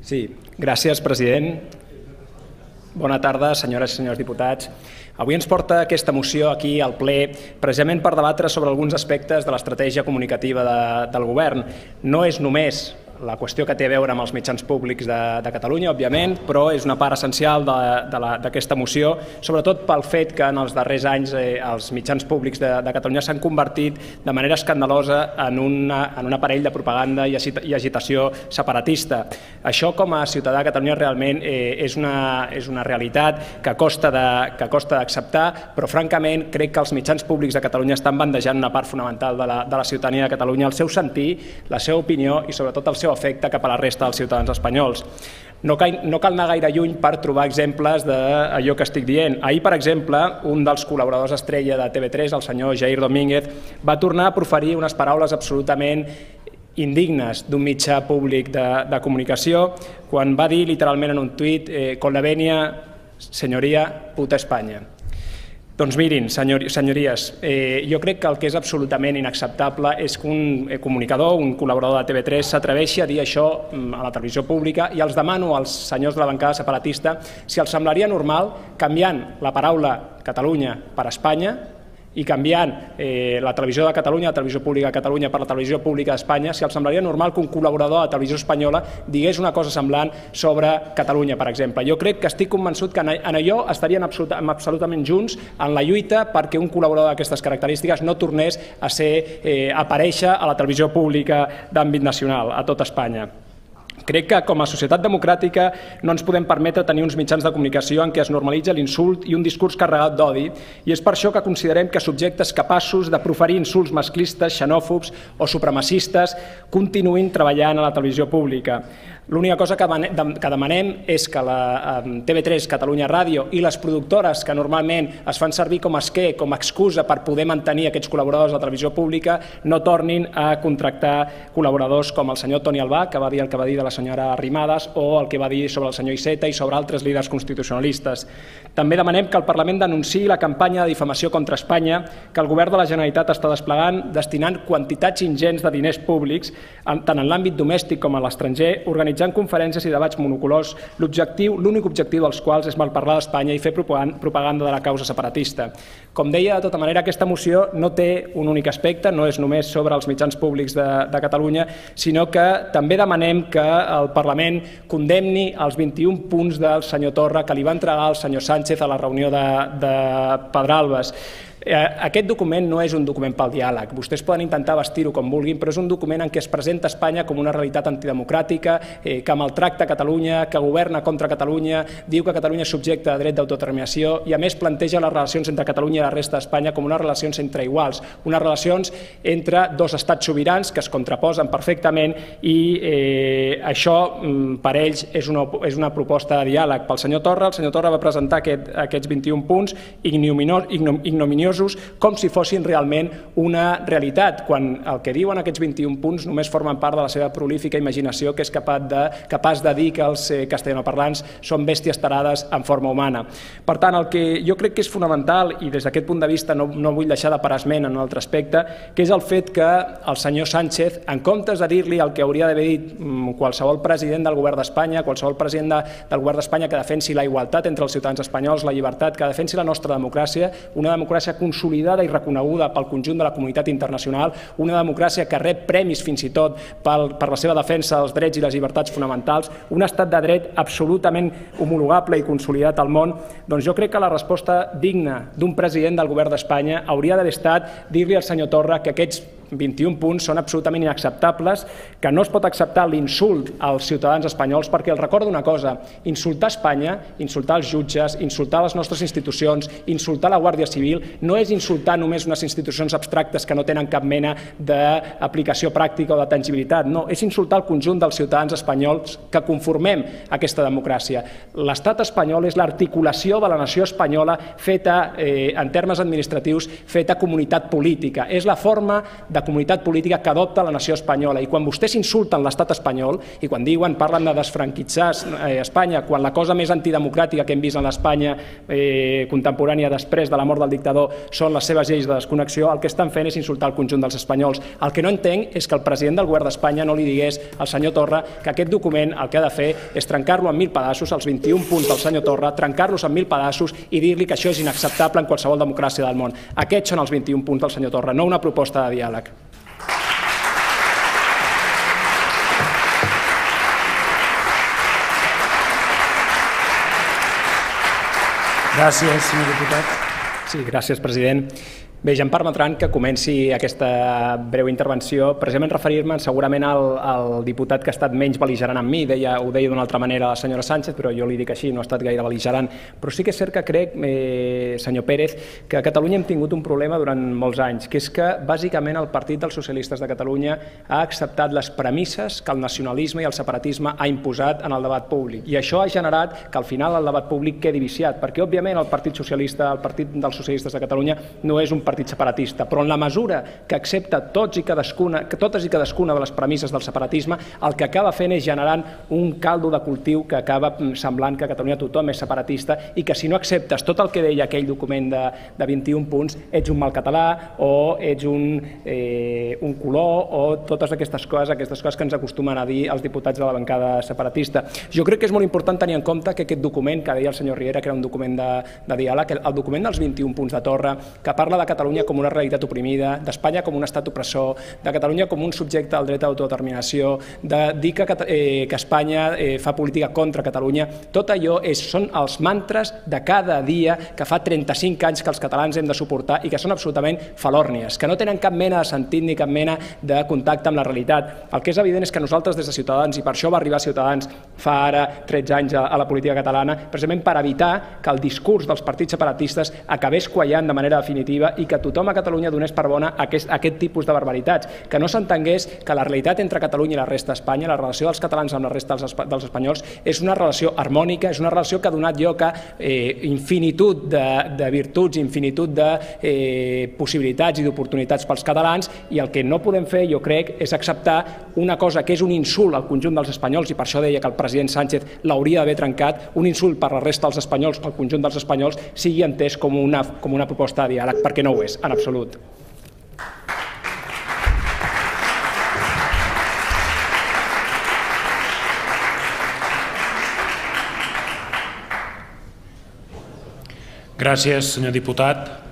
Sí, gràcies, president. Bona tarda, senyores i senyors diputats. Avui ens porta aquesta moció aquí al ple precisament per debatre sobre alguns aspectes de l'estratègia comunicativa del govern. No és només la qüestió que té a veure amb els mitjans públics de Catalunya, òbviament, però és una part essencial d'aquesta moció, sobretot pel fet que en els darrers anys els mitjans públics de Catalunya s'han convertit de manera escandalosa en un aparell de propaganda i agitació separatista. Això, com a ciutadà de Catalunya, realment és una realitat que costa d'acceptar, però francament crec que els mitjans públics de Catalunya estan bandejant una part fonamental de la ciutadania de Catalunya, el seu sentir, la seva opinió i sobretot el seu efecte cap a la resta dels ciutadans espanyols. No cal anar gaire lluny per trobar exemples d'allò que estic dient. Ahir, per exemple, un dels col·laboradors estrella de TV3, el senyor Jair Domínguez, va tornar a proferir unes paraules absolutament indignes d'un mitjà públic de comunicació quan va dir literalment en un tuit «Con la venia, señoría, puta España». Doncs mirin, senyories, jo crec que el que és absolutament inacceptable és que un comunicador, un col·laborador de TV3 s'atreveixi a dir això a la televisió pública i els demano als senyors de la bancada separatista si els semblaria normal, canviant la paraula Catalunya per Espanya i canviant la televisió de Catalunya, la televisió pública de Catalunya per la televisió pública d'Espanya, si els semblaria normal que un col·laborador de la televisió espanyola digués una cosa semblant sobre Catalunya, per exemple. Jo crec que estic convençut que en allò estarien absolutament junts en la lluita perquè un col·laborador d'aquestes característiques no tornés a aparèixer a la televisió pública d'àmbit nacional, a tot Espanya. Crec que com a societat democràtica no ens podem permetre tenir uns mitjans de comunicació en què es normalitza l'insult i un discurs carregat d'odi i és per això que considerem que subjectes capaços de proferir insults masclistes, xenòfobs o supremacistes continuïn treballant a la televisió pública. L'única cosa que demanem és que la TV3, Catalunya Ràdio i les productores que normalment es fan servir com a esquer, com a excusa per poder mantenir aquests col·laboradors de la televisió pública, no tornin a contractar col·laboradors com el senyor Toni Albà, que va dir el que va dir de la senyora Arrimadas, o el que va dir sobre el senyor Iceta i sobre altres líders constitucionalistes. També demanem que el Parlament denunciï la campanya de difamació contra Espanya que el govern de la Generalitat està desplegant, destinant quantitats ingents de diners públics, tant en l'àmbit domèstic com a l'estranger, organitzant conferències i debats monocolors, l'únic objectiu dels quals és malparlar d'Espanya i fer propaganda de la causa separatista. Com deia, de tota manera, aquesta moció no té un únic aspecte, no és només sobre els mitjans públics de Catalunya, sinó que també demanem que el Parlament condemni els 21 punts del senyor Torra que li va entregar el senyor Sánchez a la reunió de Pedralbes. Aquest document no és un document pel diàleg. Vostès poden intentar vestir-ho com vulguin, però és un document en què es presenta Espanya com una realitat antidemocràtica, que maltracta Catalunya, que governa contra Catalunya, diu que Catalunya és subjecte de dret d'autodeterminació i, a més, planteja les relacions entre Catalunya i la resta d'Espanya com unes relacions entre iguals, unes relacions entre dos estats sobirans que es contraposen perfectament i això, per ells, és una proposta de diàleg. Pel senyor Torra, el senyor Torra va presentar aquests 21 punts ignominiosos com si fossin realment una realitat, quan el que diuen aquests 21 punts només formen part de la seva prolífica imaginació, que és capaç de dir que els castellanoparlants són bèsties tarades en forma humana. Per tant, el que jo crec que és fonamental, i des d'aquest punt de vista no vull deixar de parar esment en un altre aspecte, que és el fet que el senyor Sánchez, en comptes de dir-li el que hauria d'haver dit qualsevol president del govern d'Espanya, qualsevol president del govern d'Espanya que defensi la igualtat entre els ciutadans espanyols, la llibertat, que defensi la nostra democràcia, una democràcia consolidada i reconeguda pel conjunt de la comunitat internacional, una democràcia que rep premis fins i tot per la seva defensa dels drets i les llibertats fonamentals, un estat de dret absolutament homologable i consolidat al món, doncs jo crec que la resposta digna d'un president del govern d'Espanya hauria d'haver estat dir-li al senyor Torra que aquests 21 punts són absolutament inacceptables, que no es pot acceptar l'insult als ciutadans espanyols, perquè els recordo una cosa, insultar Espanya, insultar els jutges, insultar les nostres institucions, insultar la Guàrdia Civil, no és insultar només unes institucions abstractes que no tenen cap mena d'aplicació pràctica o de tangibilitat, no, és insultar el conjunt dels ciutadans espanyols que conformem aquesta democràcia. L'estat espanyol és l'articulació de la nació espanyola feta, en termes administratius, feta comunitat política. És la forma de comunitat política que adopta la nació espanyola. I quan vostès insulten l'estat espanyol i quan parlen de desfranquitxar Espanya, quan la cosa més antidemocràtica que hem vist en l'Espanya contemporània després de la mort del dictador són les seves lleis de desconnexió, el que estan fent és insultar el conjunt dels espanyols. El que no entenc és que el president del govern d'Espanya no li digués al senyor Torra que aquest document el que ha de fer és trencar-lo en 1.000 pedaços, els 21 punts del senyor Torra, trencar-los en 1.000 pedaços i dir-li que això és inacceptable en qualsevol democràcia del món. Aquests són els 21 punts del senyor Torra, no una proposta de diàleg. Gràcies, senyor diputat. Sí, gràcies, president. Bé, ja em permetran que comenci aquesta breu intervenció precisament referir-me segurament al diputat que ha estat menys bel·ligerant amb mi, ho deia d'una altra manera la senyora Sánchez, però jo li dic així, no ha estat gaire bel·ligerant. Però sí que és cert que crec, senyor Pérez, que a Catalunya hem tingut un problema durant molts anys, que és que bàsicament el Partit dels Socialistes de Catalunya ha acceptat les premisses que el nacionalisme i el separatisme ha imposat en el debat públic. I això ha generat que al final el debat públic quedi viciat, perquè òbviament el Partit Socialista, el Partit dels Socialistes de Catalunya no és un partit separatista, però en la mesura que accepta totes i cadascuna de les premisses del separatisme, el que acaba fent és generant un caldo de cultiu que acaba semblant que a Catalunya tothom és separatista i que si no acceptes tot el que deia aquell document de 21 punts, ets un mal català o ets un color o totes aquestes coses que ens acostumen a dir els diputats de la bancada separatista. Jo crec que és molt important tenir en compte que aquest document, que deia el senyor Riera, que era un document de diàleg, el document dels 21 punts de Torra, que parla de Catalunya com una realitat oprimida, d'Espanya com un estat opressor, de Catalunya com un subjecte al dret d'autodeterminació, de dir que Espanya fa política contra Catalunya, tot allò són els mantres de cada dia que fa 35 anys que els catalans hem de suportar i que són absolutament falòrnies, que no tenen cap mena de sentit ni cap mena de contacte amb la realitat. El que és evident és que nosaltres des de Ciutadans, i per això va arribar Ciutadans fa ara 13 anys a la política catalana, precisament per evitar que el discurs dels partits separatistes acabés quallant de manera definitiva i que tothom a Catalunya donés per bona aquest tipus de barbaritats, que no s'entengués que la realitat entre Catalunya i la resta d'Espanya, la relació dels catalans amb la resta dels espanyols, és una relació harmònica, és una relació que ha donat lloc a infinitud de virtuts, infinitud de possibilitats i d'oportunitats pels catalans, i el que no podem fer, jo crec, és acceptar una cosa que és un insult al conjunt dels espanyols, i per això deia que el president Sánchez l'hauria d'haver trencat, un insult per la resta dels espanyols, al conjunt dels espanyols, sigui entès com una proposta de diàleg, perquè no ho és, en absolut. Gràcies, senyor diputat.